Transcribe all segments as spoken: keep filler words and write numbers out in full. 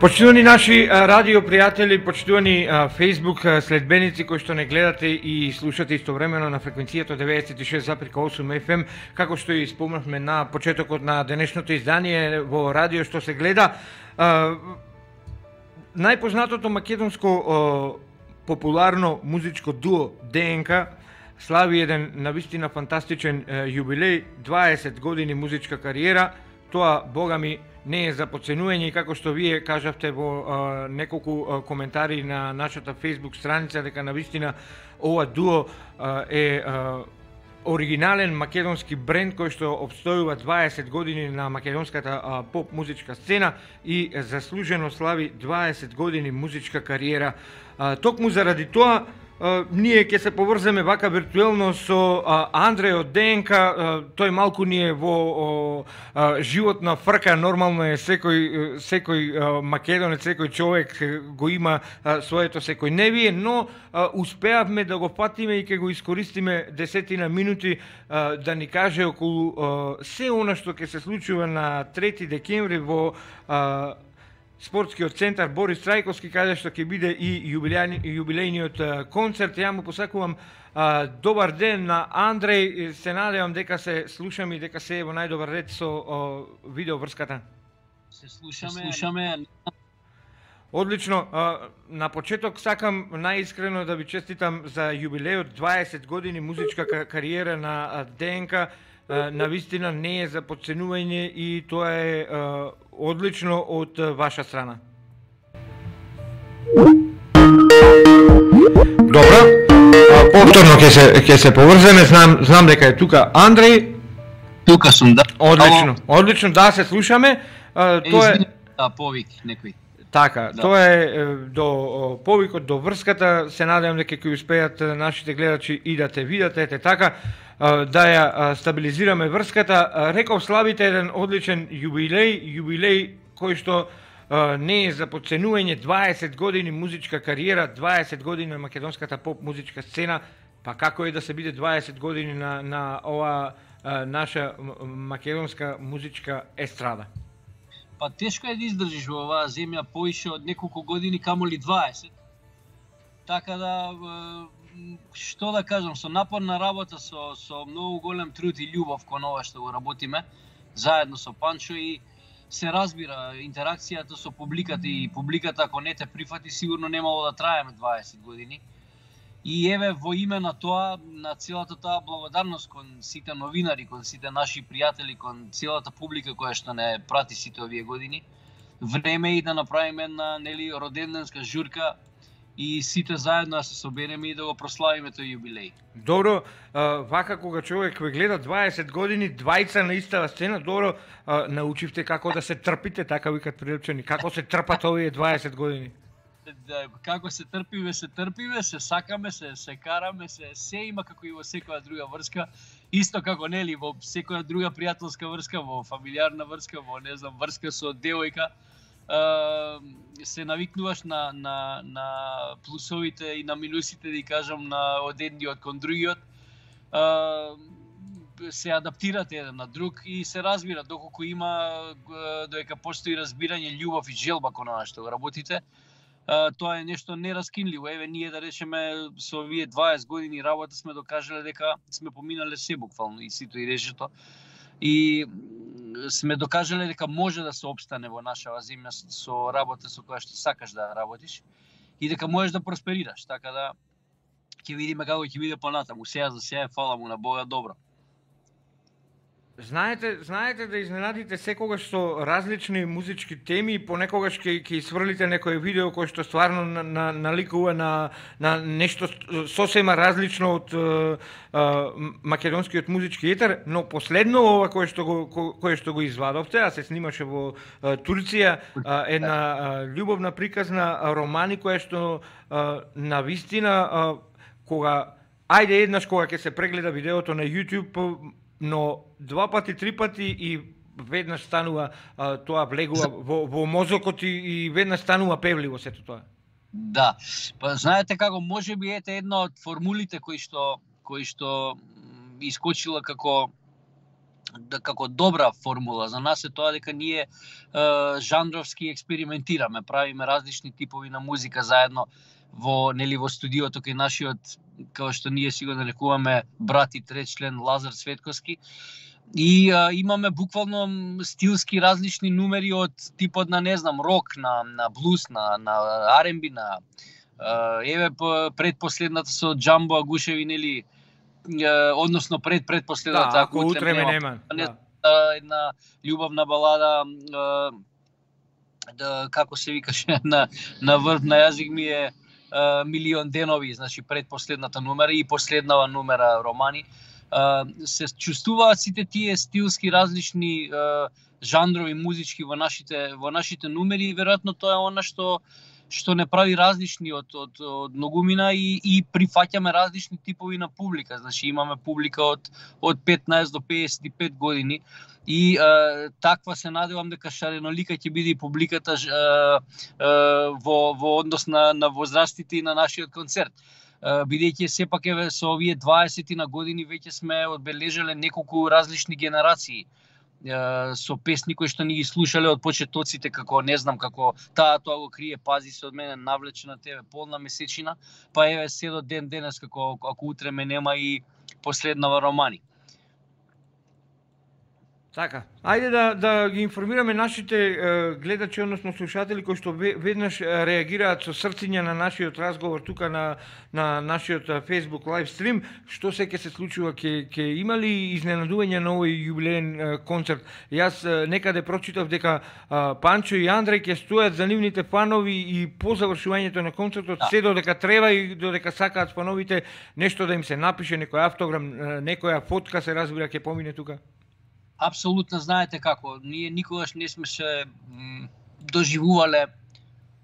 Почитувани наши радио пријатели, почитувани Facebook следбеници кои што не гледате и слушате истовремено на фреквенцијата деветдесет и шест запирка осум еф ем, како што и спомнавме на почетокот на денешното издание во радио што се гледа, најпознатото македонско популарно музичко дуо ДНК слави еден навистина фантастичен јубилеј, дваесет години музичка кариера. Тоа, бога ми, не е за подценување, и како што вие кажавте во а, неколку а, коментари на нашата Facebook страница, дека навистина ова дуо а, е а, оригинален македонски бренд кој што обстојува дваесет години на македонската а, поп музичка сцена и заслужено слави дваесет години музичка кариера. А, токму заради тоа, Uh, ние ќе се поврземе вака виртуелно со uh, Андреј од ДНК, uh, тој малку ни е во uh, uh, животна фрка, нормално е секој, секој uh, македонец, секој човек го има uh, своето секојневие, но uh, успеавме да го фатиме и ќе го искористиме десетина минути uh, да ни каже околу uh, се она што ќе се случува на трети декември во uh, спортскиот центар Борис Трајковски, каде што ќе биде и јубилејниот концерт. Ја му посакувам а, добар ден на Андреј. Се надевам дека се слушаме и дека се е во најдобар ред со о, видео врската. Се слушаме. Се слушаме. Одлично. А, на почеток сакам најискрено да ви честитам за јубилејот, дваесет години музичка кариера на ДНК. Навистина не е за подценување и тоа е а, одлично од ваша страна. Добро, повторно ќе се ќе се поврземе, знам знам дека е тука Андреј. Тука сум, да. Одлично, одлично, да се слушаме. А, тоа е да, повик некој. Така, да. Тоа е до повикот до врската. Се надевам дека ќе успеат нашите гледачи и да те видат, ете така, да ја стабилизираме врската. Реков, славите еден одличен јубилеј, јубилеј кој што не е за подценување, дваесет години музичка кариера, дваесет години на македонската поп музичка сцена. Па како е да се биде дваесет години на на ова наша македонска музичка естрада? Па тешко е да издржиш во оваа земја поише од неколку години, камоли дваесет. Така да, што да кажам, со напорна работа, со, со многу голем труд и љубов кон ова што го работиме, заедно со Панчо, и се разбира интеракцијата со публиката, и публиката ако не те прифати, сигурно немало да траеме дваесет години. И еве, во име на тоа, на целата таа благодарност кон сите новинари, кон сите наши пријатели, кон целата публика која што не прати сите овие години, време е и да направиме една, нели, роденденска журка и сите заедно да се собереме и да го прославиме тој јубилеј. Добро, вака кога човек ве гледа дваесет години, двајца на истава сцена, добро, научивте како да се трпите, така викат прилучени, како се трпат овие дваесет години? Да, како се трпиме, се трпиме, се сакаме, се се караме, се се има како и во секоја друга врска, исто како, нели, во секоја друга пријателска врска, во фамилиарна врска, во, не знам, врска со девојка, се навикнуваш на на на плусовите и на минусите, да кажам, на од едниот кон другиот. Се адаптирате еден на друг и се разбира доколку има, додека постои разбирање, љубов и желба кон она што го работите. Uh, тоа е нешто нераскинливо. Еве, ние, да речеме, со овие дваесет години работа сме докажале дека сме поминале се буквално, и сито и решето. И сме докажале дека може да се опстане во нашава земја со работа со која што сакаш да работиш и дека можеш да просперираш. Така да ќе видиме како ќе биде понатаму. Сега за сега, фала му на Бога, добро. Знаете, знаете да изненадите секогаш со различни музички теми, и понекогаш ќе ќе сврлите некој видео кој што стварно на, на, наликува на, на нешто сосема различно од а, а, македонскиот музички етер, но последно ова кое што го ко, кое што го извадовте, а се снимаше во а, Турција, а, една а, љубовна приказна а, романи која што а, навистина а, кога ајде еднаш кога ќе се прегледа видеото на YouTube, но два пати, три пати и веднаш станува а, тоа влегува во, во мозокот и, и веднаш станува певливо сето тоа. Да, па знаете како, може би ете една од формулите кои што кои што искочила како да, како добра формула за нас е тоа дека ние е, жанровски експериментираме, правиме различни типови на музика заедно во нели во студиото кај нашиот, како што ние си го нарекуваме брат и трет член Лазар Светковски. И а, имаме буквално стилски различни numeri од типот на не знам рок, на на блуз, на на ар енд би, на а, еве предпоследната со Джамбо Агушеви нели, односно пред предпоследната, да, ако утре ме нема. Да. Една љубавна балада, да, како се викаше на на врв на јазик ми е Милион денови, значи предпоследната номера и последнава номера романи. Се чувствуваат сите тие стилски различни жанрови музички во нашите во нашите numeri и веројатно тоа е она што што не прави различни од од, од многумина и и прифаќаме различни типови на публика. Значи имаме публика од од петнаесет до пеесет и пет години и е, таква се надевам дека шаренолика ќе биде и публиката е, е, во во однос на на возрастите и на нашиот концерт. Бидејќи сепак еве со овие дваесет на години веќе сме одбележале неколку различни генерации со песни кои што ни ги слушале од почетоците, како не знам, како таа тоа го крие, пази се од мене, навлече на тебе, полна месечина, па еве се до ден денес, како ако утре ме нема и последнава романи. Така, ајде да да ги информираме нашите е, гледачи, односно слушатели кои што веднаш реагираат со срциња на нашиот разговор тука на на нашиот Facebook live stream, што се ќе се случува, ќе ќе има ли изненадување на овој јубилеен концерт. Јас е, некаде прочитав дека е, Панчо и Андреј ќе стојат за нивните фанови и по завршувањето на концертот, да, се додека треба и додека сакаат фановите нешто да им се напише, некој автограм, некоја фотка се разбира ќе помине тука. Апсолутно, знаете како, ние никогаш не сме се доживувале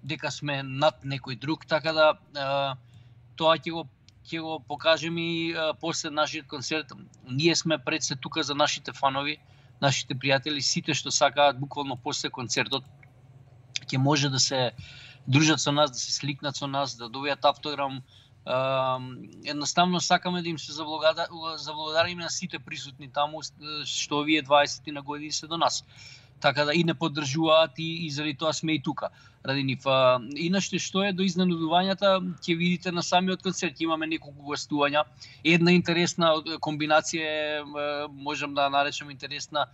дека сме над некој друг, така да е, тоа ќе го ќе го покажеме и е, после нашиот концерт. Ние сме пред се тука за нашите фанови, нашите пријатели, сите што сакаат буквално после концертот ќе може да се дружат со нас, да се сликнат со нас, да добијат автограм. Uh, едноставно сакаме да им се заблагодариме на сите присутни таму што овие дваесет на години се до нас. Така да и не поддржуваат и, и заради тоа сме и тука ради нив. Uh, иначе што е до изненадувањата, ќе видите на самиот концерт, имаме неколку гостувања. Една интересна комбинација е, можам да наречам интересна,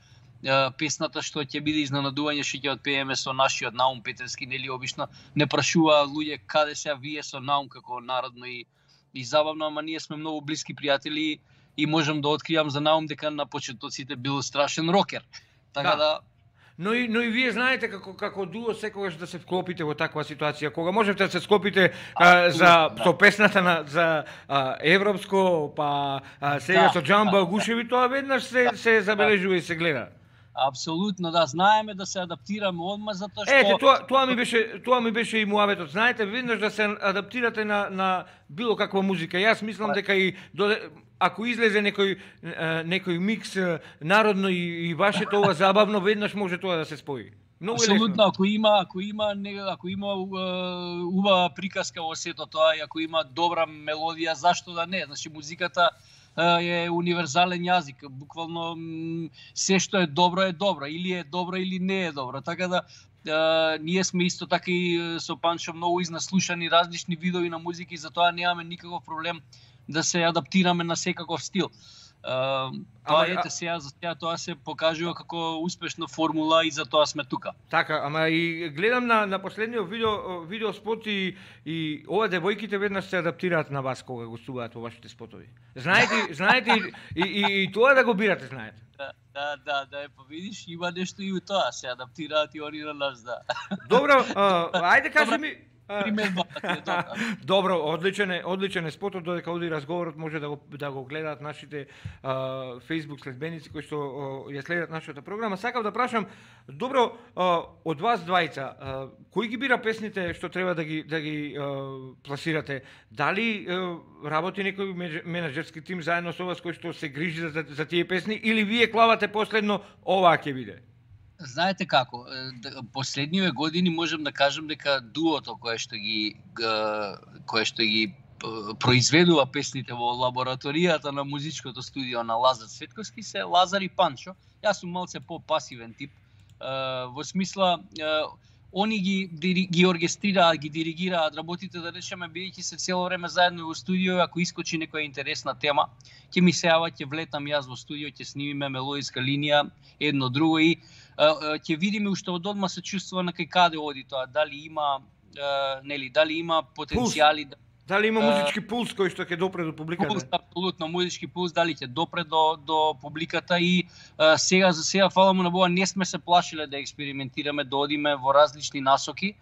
песната што ќе биде изненадување, што ќе отпееме со нашиот Наум Петерски, нели обично не прашува луѓе каде се вие со Наум како народно и и забавно, ама ние сме многу блиски пријатели и можам да откријам за Наум дека на почетоците бил страшен рокер. Така да, да Но и, но и вие знаете како како дуо секогаш да се вклопите во таква ситуација. Кога можете да се склопите а, за да. со песната на за а, европско, па а, сега да, со Джамбо Агушеви, да, тоа веднаш се се забележува да. и се гледа. Апсолутно, да, знаеме да се адаптираме одма затоа што Ете, тоа тоа ми беше тоа ми беше и муаветот. Знаете, веднаш да се адаптирате на на било каква музика. Јас мислам дека и доде, ако излезе некој некој микс народно и, и вашето ова забавно, веднаш може тоа да се спои. Многу Абсолютно, ако има ако има ако има убава приказка во сето тоа и ако има добра мелодија, зашто да не? Значи музиката е универзален јазик, буквално се што е добро е добро, или е добро или не е добро. Така да е, ние сме исто така и со Панчо многу изнаслушани различни видови на музика и затоа немаме никаков проблем да се адаптираме на секаков стил. Uh, тоа ама, ете сега за сега тоа се покажува како успешна формула и за тоа сме тука. Така, ама и гледам на на последниот видео видео спот и и ова девојките веднаш се адаптираат на вас кога гостуваат во вашите спотови. Знаете, знаете и, и, и тоа да го бирате, знаете. Да, да, да, да, е, па видиш, има нешто и у тоа, се адаптираат и они на нас, да. Добро, uh, ајде кажи ми примерно. Добро, одличен е, одличен е спотот, додека оди разговорот може да го да го гледаат нашите а, Facebook следбеници кои што а, ја следат нашата програма. Сакав да прашам, добро, а, од вас двајца, а, кој ги бира песните што треба да ги да ги а, пласирате? Дали а, работи некој менаџерски тим заедно со вас кој што се грижи за, за тие песни или вие клавате последно оваа ќе биде? Знаете како, последниве години можам да кажам дека дуото кое што ги кое што ги произведува песните во лабораторијата на музичкото студио на Лазар Цветковски се Лазар и Панчо. Јас сум малце по-пасивен тип, во смисла они ги ги оркестрираат, ги диригираат работите, да речеме, бидејќи се цело време заедно во студио, ако искочи некоја интересна тема, ќе ми се јава, ќе влетам јас во студио, ќе снимиме мелодиска линија, едно друго и ќе видиме уште од одма се чувствува на кај каде оди тоа, дали има нели, дали има потенцијали да дали има музички пулс кој што ќе допре до публиката? Пулс, апсолутно, музички пулс, дали ќе допре до, до публиката и а, сега за сега, фала му на Бога, не сме се плашиле да експериментираме, да одиме во различни насоки.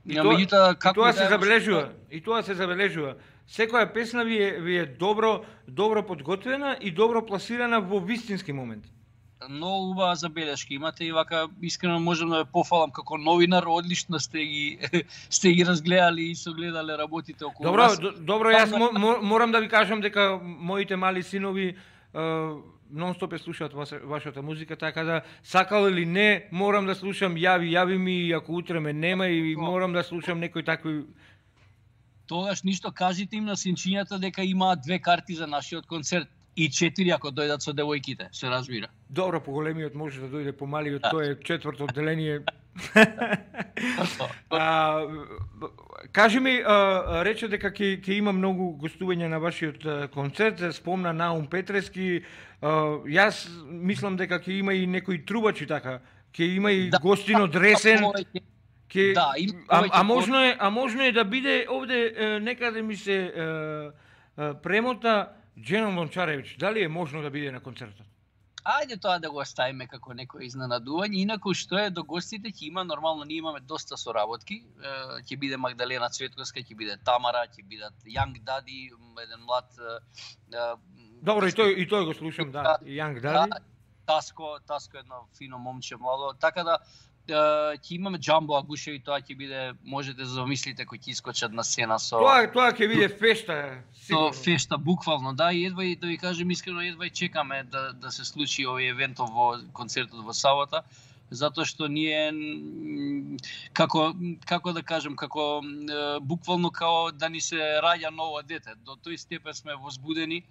И тоа, меѓутоа, како и тоа да се забележува, и тоа се забележува. Секоја песна ви е, ви е добро, добро подготвена и добро пласирана во вистински момент. Многу убава забелешки имате и вака искрено можам да ве пофалам како новинар, одлично сте ги сте ги разгледали и согледале работите околу добро, нас. Добро, добро, јас мо, морам да ви кажам дека моите мали синови нон-стоп е слушаат вашата музика, така да сакал или не, морам да слушам, јави, јави ми, ако утре ме нема и морам да слушам некои такви. Тогаш ништо кажите им на синчињата дека имаат две карти за нашиот концерт. И четири ако дојдат со девојките, се разбира. Добро, поголемиот може да дојде, помалиот да. Тој е четврто одделение. а, кажи ми, а, рече дека ќе ќе има многу гостувања на вашиот концерт, спомна Наум Петрески. А, јас мислам дека ќе има и некои трубачи така, ќе има и да, гостин од Ресен. Ке... Да, им... а, а можно е, а можно е да биде овде е, некаде ми се е, е, премота Дженон Лончаревич, дали е можно да биде на концертот? Ајде тоа да го оставиме како некој изненадување, инаку што е до гостите ќе има, нормално ние имаме доста соработки, ќе биде Магдалена Цветковска, ќе биде Тамара, ќе бидат Young Daddy, еден млад... Добро, и тој, и тој го слушам, да, Young Daddy. Таско, Таско е едно фино момче, младо, така да ќе имаме Джамбо Агушеви, тоа ќе биде, можете да замислите кои ќе искочат на сцена со... Тоа, тоа ќе биде фешта, сигурно. Со фешта, буквално, да, и едва и да ви кажем искрено, едва и чекаме да, да се случи овој евентов во концертот во сабота, затоа што ние, како, како да кажем, како буквално као да ни се раѓа ново дете, до тој степен сме возбудени,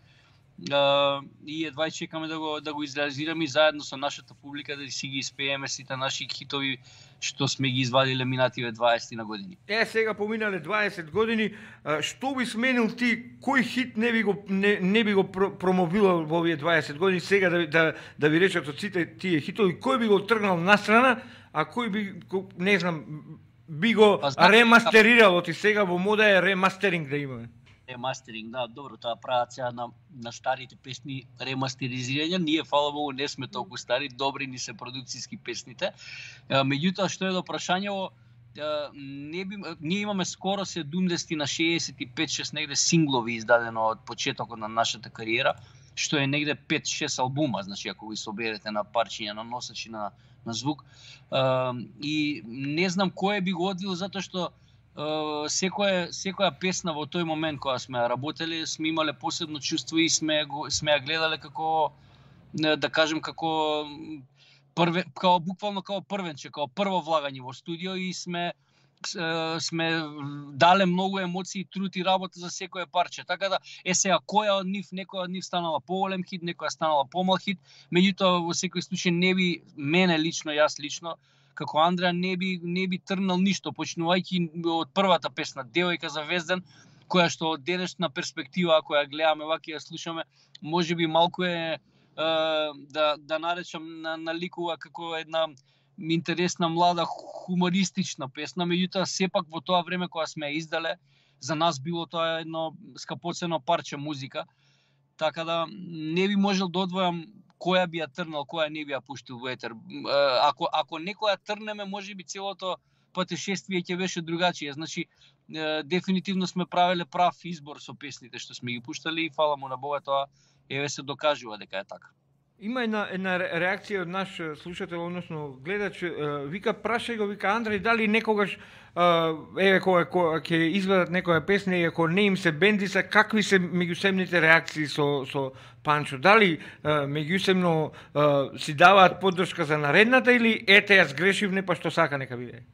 Uh, и едва и чекаме да го да го изреализираме и заедно со нашата публика да си ги испееме сите наши хитови што сме ги извадиле минативе дваесет на години. Е, сега поминале дваесет години, што би сменил ти, кој хит не би го не, не би го промовирал во овие дваесет години, сега да да да ви речат од сите тие хитови, кој би го тргнал настрана, а кој би, не знам, би го ремастерирал, оти сега во мода е ремастеринг да имаме. Ремастеринг, да, добро, тоа прават сега на, на старите песни ремастеризирање. Ние, фала Богу, не сме толку стари, добри ни се продукцијски песните. Меѓутоа, што е до прашањево, не би, ние имаме скоро седумдесет на шеесет и пет шест негде синглови издадено од почетокот на нашата кариера, што е негде пет шест албума, значи ако ги соберете на парчиња, на носачи, на, на звук. И не знам кој би го одвил, затоа што Uh, секоја секоја песна во тој момент кога сме работеле, сме имале посебно чувство и сме го сме ја гледале како, да кажем, како прве, како буквално како првенче, како прво влагање во студио и сме сме дале многу емоции, труд и работа за секое парче. Така да е сега која од нив, некоја од нив станала поголем хит, некоја станала помал хит, меѓутоа во секој случај не би мене лично, јас лично како Андреа не би не би трнал ништо, почнувајќи од првата песна Девојка за Везден, која што од денешна перспектива, ако ја гледаме вака ја слушаме, можеби малку е, е да да наречам на наликува како една интересна млада хумористична песна, меѓутоа сепак во тоа време кога сме ја издале, за нас било тоа едно скапоцено парче музика. Така да не би можел да одвојам која би ја трнал, која не би ја пуштил во етер. Ако ако некоја трнеме, можеби целото патешествие ќе беше другачие. Значи дефинитивно сме правеле прав избор со песните што сме ги пуштали и фала му на Бога, тоа еве се докажува дека е така. Има една, една реакција од наш слушател, односно гледач, вика, прашај го, вика, Андреј, дали некогаш, еве, кога, кога ќе изведат некоја песна и ако не им се бендиса, какви се меѓусебните реакции со, со Панчо? Дали меѓусебно си даваат поддршка за наредната или ете, јас грешив, не па што сака нека биде?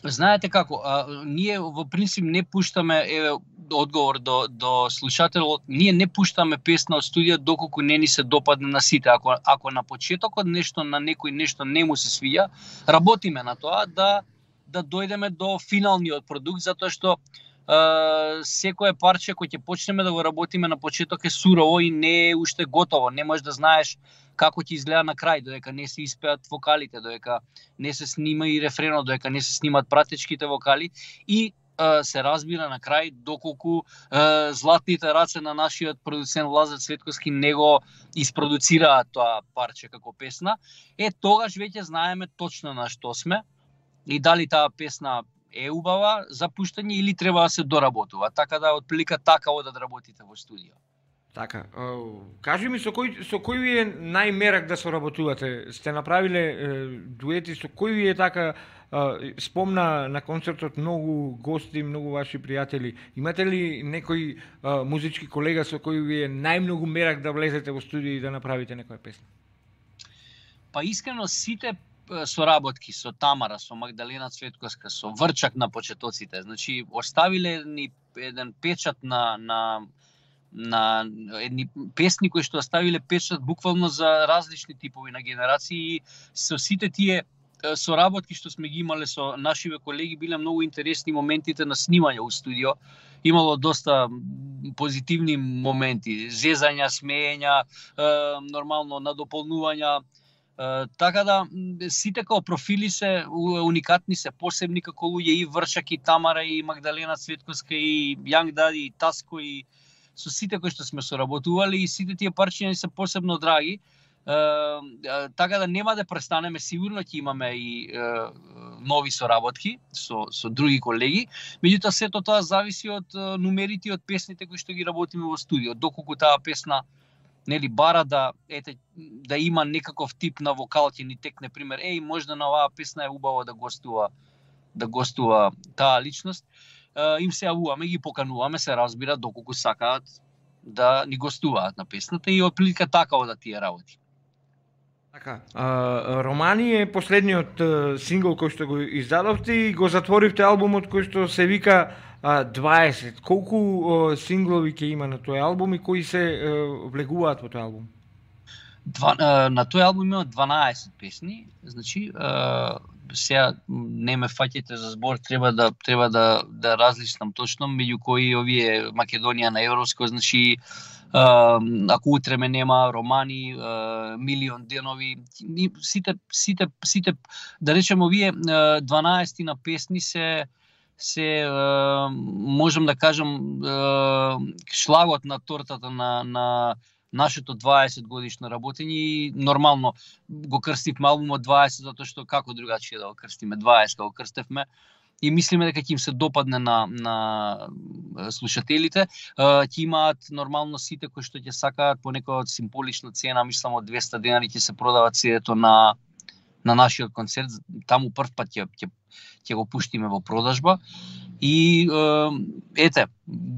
Знаете како, а, ние во принцип не пуштаме, еве одговор до до слушателот, ние не пуштаме песна од студија доколку не ни се допадне на сите. Ако ако на почетокот нешто на некој нешто не му се свија, работиме на тоа да да дојдеме до финалниот продукт, затоа што Uh, секое парче кој ќе почнеме да го работиме на почеток е сурово и не е уште готово. Не можеш да знаеш како ќе изгледа на крај, додека не се испеат вокалите, додека не се снима и рефренот, додека не се снимат пратечките вокали и uh, се разбира на крај доколку uh, златните раце на нашиот продуцент Лазар Цветковски не го испродуцираат тоа парче како песна. Е, тогаш веќе знаеме точно на што сме и дали таа песна е убава за пуштање или треба да се доработува. Така да отприлика така одат да работите во студио. Така, кажи ми со кој со кој ви е најмерак да соработувате? Сте направиле дуети со кој ви е така спомна на концертот многу гости, многу ваши пријатели. Имате ли некој музички колега со кој ви е најмногу мерак да влезете во студио и да направите некоја песна? Па искрено сите соработки со Тамара, со Магдалена Цветковска, со Врчак на почетоците, значи оставиле ни еден печат на на на едни песни кои што оставиле печат буквално за различни типови на генерации и со сите тие соработки што сме ги имале со нашиве колеги биле многу интересни моментите на снимање у студио. Имало доста позитивни моменти, зезања, смеења, нормално надополнувања. Uh, така да сите како профили се уникатни, се посебни како луѓе и Врчак и Тамара и Магдалена Цветковска и Јанг Дади и Таско и со сите кои што сме соработували и сите тие парчиња се посебно драги. Uh, uh, така да нема да престанеме, сигурно ќе имаме и uh, нови соработки со со други колеги. Меѓутоа сето тоа зависи од uh, нумерите и од песните кои што ги работиме во студио. Доколку таа песна нели бара да ете да има некаков тип на вокал, ќе ни текне пример, еј можда на оваа песна е убаво да гостува да гостува таа личност. Е, им се јавуваме, ги покануваме, се разбира доколку сакаат да ни гостуваат на песната и отприлика така одат тие работи. Така, а, Романи е последниот а, сингл кој што го издадовте и го затворивте албумот кој што се вика а, дваесет. Колку а, синглови ќе има на тој албум и кои се а, влегуваат во тој албум? Два, а, на тој албум има дванаесет песни, значи а, сега не ме фаќате за збор, треба да треба да да различнам точно меѓу кои овие Македонија на европско, значи Uh, ако утре ме нема, Романи, uh, Милион денови, сите сите сите да речеме овие uh, дванаесет на песни се се uh, можам да кажам uh, шлагот на тортата на на нашето дваесет годишно работење и нормално го крстивме албумот дваесет затоа што како другачие да го крстиме дваесет како крстевме. И мислиме дека ќе им се допадне на на слушателите. Ќе имаат нормално сите кои што ќе сакаат по некоја символична цена, мислам од двесте денари ќе се продават сидето на на нашиот концерт. Таму прв пат ќе ќе ќе го пуштиме во продажба. И ете,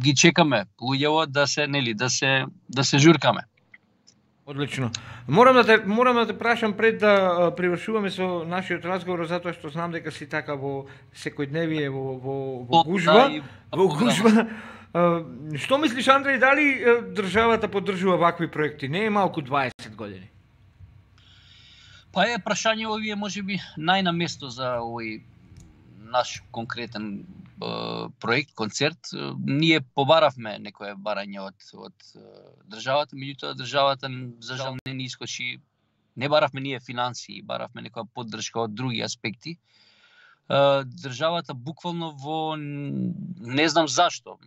ги чекаме луѓето да се нели да се да се журкаме. Одлично. Морам да те морам да те прашам пред да привршуваме со нашиот разговор затоа што знам дека си така во секојдневие во во во гужва, во гужва. Што мислиш, Андреј, дали државата поддржува вакви проекти? Не е малку дваесет години. Па е прашање овие можеби најнаместо за овој наш конкретен проект, концерт. Ние побаравме некое барање од од државата, меѓутоа државата за жал не ни искочи. Не баравме ние финансии, баравме некоја поддршка од други аспекти. Државата буквално во не знам зашто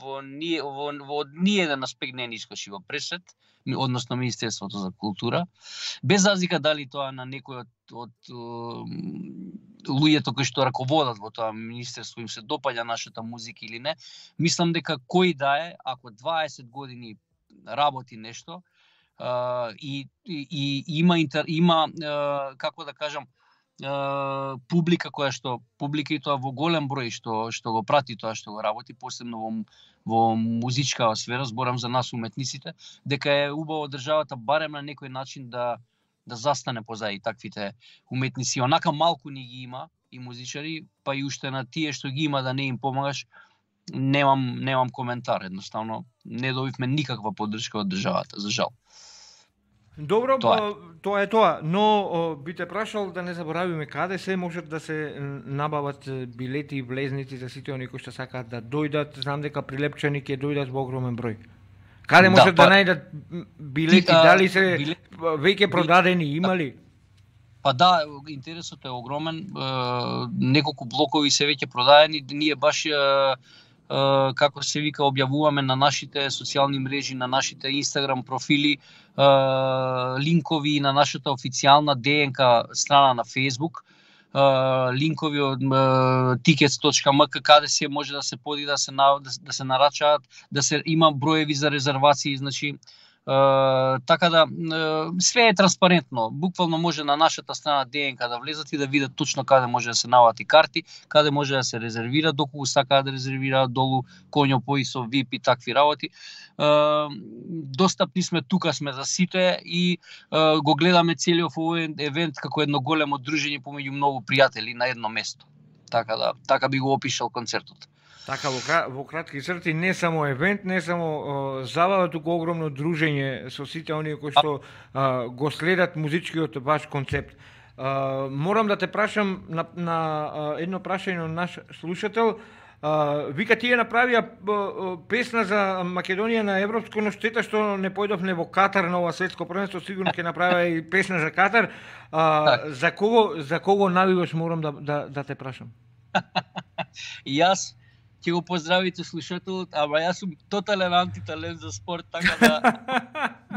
во ние во, во ниеден аспект не ни искочи во пресет, односно Министерството за култура, без разлика дали тоа на некој од, од луѓето кои што раководат во тоа министерство им се допаѓа нашата музика или не. Мислам дека кој да е, ако дваесет години работи нешто uh, и, и, и има интер, има uh, како да кажам Uh, публика која што публика и тоа во голем број што што го прати тоа што го работи, посебно во во музичка сфера, зборам за нас уметниците, дека е убаво државата барем на некој начин да да застане позади таквите уметници. Онака малку ни ги има и музичари, па и уште на тие што ги има да не им помагаш, немам немам коментар, едноставно не добивме никаква поддршка од државата, за жал. Добро, тоа е, тоа е тоа, но о, би те прашал да не заборавиме каде се можат да се набават билети и влезници за сите оние кои што сакаат да дојдат. Знам дека Прилепчани ќе дојдат во огромен број. Каде можат да, да најдат билети, ти, дали се билет... веќе продадени, има ли? Па да, интересот е огромен, неколку блокови се веќе продадени, ние баш како се вика објавуваме на нашите социјални мрежи, на нашите Инстаграм профили, линкови на нашата официјална ДНК страна на Facebook, линкови од tickets точка ем ка каде се може да се поди да се да се нарачаат, да се има броеви за резервации, значи Uh, така да uh, све е транспарентно. Буквално може на нашата страна ДНК да влезат и да видат точно каде може да се навати карти, каде може да се резервира, доколку сакаат да резервираат долу коњо пои со ви ай пи такви работи. Uh, достапни сме, тука сме за сите и uh, го гледаме целиот овој евент како едно големо дружење помеѓу многу пријатели на едно место. Така да, така би го опишал концертот. Така, во, во кратки црти, не само евент, не само о, забава, туку огромно дружење со сите оние кои што а, го следат музичкиот ваш концепт. А, морам да те прашам на, на а, едно прашање на наш слушател. А, вика, тие направија а, песна за Македонија на европско, но штета што не појдовме во Катар на ова светско првенство, сигурно ќе направи и песна за Катар. А, за кого за кого навиваш, морам да да, да те прашам. И јас ќе го поздравите слушателот, ама јас сум тотален антиталент за спорт, така да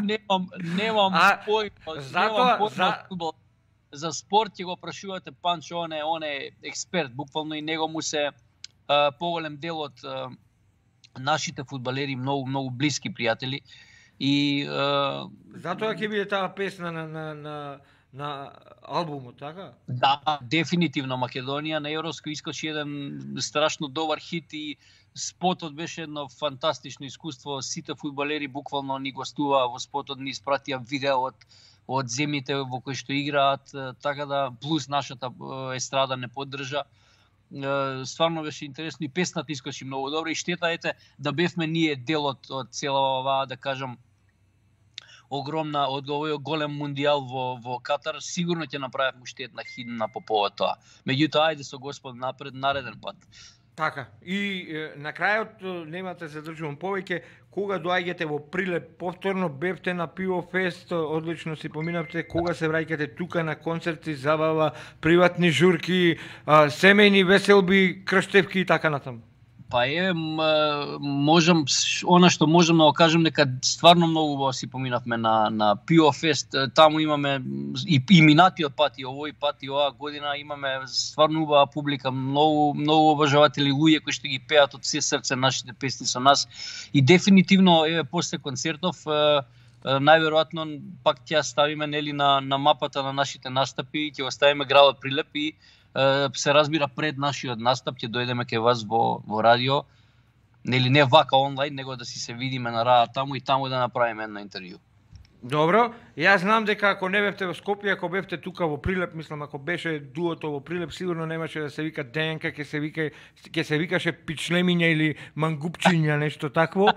немам немам појма, немам појма за фудбал. За спорт ќе го прашувате Панчо, он е, он е експерт, буквално и него му се а, поголем дел од а, нашите фудбалери, многу многу блиски пријатели и а, затоа ќе биде таа песна на на на на албумот, така? Да, дефинитивно Македонија на Европско искочи еден страшно добар хит и спотот беше едно фантастично искуство. Сите фудбалери буквално ни гостуваа во спотот, ни испратија видео од од земјите во кои што играат, така да плюс нашата естрада не поддржа. Стварно беше интересно и песната искочи многу добро и штета ете да бевме ние дел од од цела оваа, да кажам, огромна од овој голем мундијал во во Катар, сигурно ќе направиме уште една химна по повод тоа. Меѓутоа, ајде со Господ напред нареден пат. Така, и е, на крајот немате да се задржувам повеќе, кога доаѓате во Прилеп повторно, бевте на Пиво Фест, одлично си поминавте, кога се враќате тука на концерти, забава, приватни журки, а, семејни веселби, крштевки и така натаму? Па е, можам, она што можам да го кажем, дека стварно многу убаво си поминавме на, на Пио Фест, таму имаме и, и минатиот пат, и овој пат, и оваа година имаме стварно убава публика, многу, многу обожаватели луѓе кои што ги пеат од се срце нашите песни со нас, и дефинитивно, еве, после концертов, најверојатно пак ќе ставиме, нели, на, на мапата на нашите настапи, ќе го ставиме градот Прилеп и се разбира пред нашиот настап ќе дојдеме кај вас во во радио, нели не вака онлайн, него да си се видиме на рада таму и таму да направиме едно интервју. Добро, јас знам дека ако не бевте во Скопје, ако бевте тука во Прилеп, мислам ако беше дуото во Прилеп, сигурно немаше да се вика ДНК, ќе се вика ќе се викаше пичлемиња или мангупчиња, нешто такво.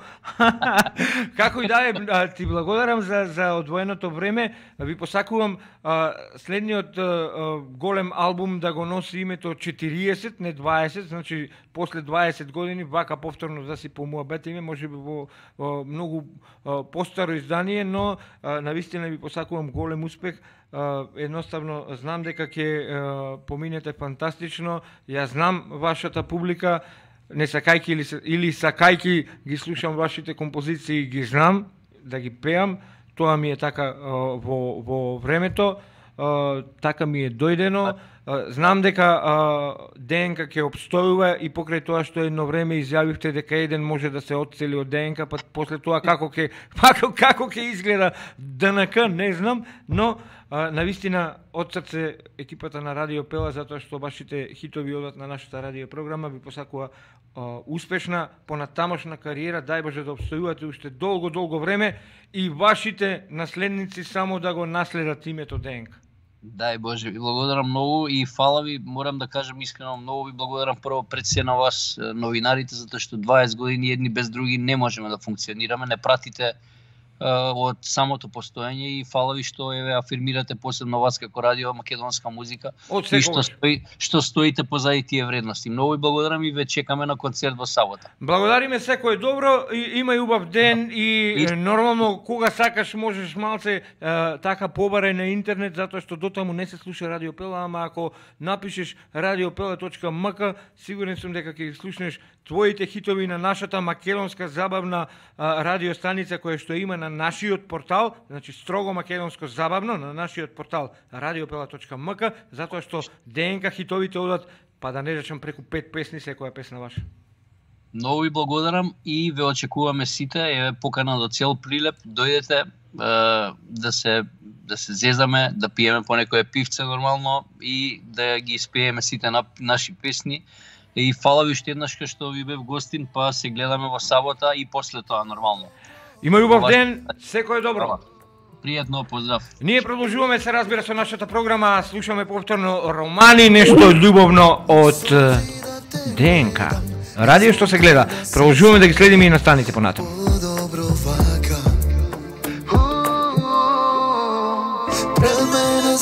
Како и да е, ти благодарам за за одвоеното време. Ви посакувам а, следниот а, голем албум да го носи името четириесет, не дваесет, значи после дваесет години вака повторно да си помуабетиме, можеби во, во многу а, постаро издание, но а, навистина ви посакувам голем успех. Uh, едноставно знам дека ќе uh, поминете фантастично. Ја знам вашата публика, не сакајки или, или сакајки ги слушам вашите композиции, ги знам да ги пеам. Тоа ми е така uh, во, во времето, uh, така ми е дојдено. Uh, знам дека uh, ДНК ќе обстојува и покрај тоа што едно време изјавивте дека еден може да се отцели од ДНК, па после тоа како ќе како како ќе изгледа ДНК, не знам, но uh, навистина од срце екипата на Радио Пела, затоа што вашите хитови одат на нашата радио програма, ви посакува uh, успешна понатамошна кариера, дај Боже да обстојувате уште долго долго време и вашите наследници само да го наследат името ДНК. Дај Боже, ви благодарам многу и фала ви, морам да кажам искрено, многу ви благодарам прво пред се на вас, новинарите, затоа што дваесет години едни без други не можеме да функционираме, не пратите од самото постоење и фала ви што еве афирмирате посебно вас како радио македонска музика и што стои што стоите позади тие вредности. Многу ви благодарам и ве чекаме на концерт во сабота. Благодариме, секој добро, и, има и убав ден и, и нормално кога сакаш можеш малце е, така побарај на интернет, затоа што дотаму не се слуша Радио Пела, ама ако напишеш радиопела точка ем ка, сигурен сум дека ќе слушнеш твоите хитови на нашата македонска забавна а, радиостаница која што има на нашиот портал, значи строго македонско забавно на нашиот портал радиопела точка ем ка, затоа што ДНК хитовите одат, па да не речам преку пет песни секоја песна ваша. Многу ви благодарам и ве очекуваме сите, еве покана до цел Прилеп, дојдете е, да се да се зезаме, да пиеме по некое пивце нормално и да ги испееме сите на, наши песни. И фала ви уште еднаш што ви бев гостин, па се гледаме во сабота и после тоа нормално. Има убав ден, секој добро. Пријатно, поздрав. Ние продолжуваме, се разбира, со нашата програма, слушаме повторно романи, нешто љубовно од ДНК. Радио што се гледа. Продолжуваме да ги следиме и настаните понатаму. Пред мене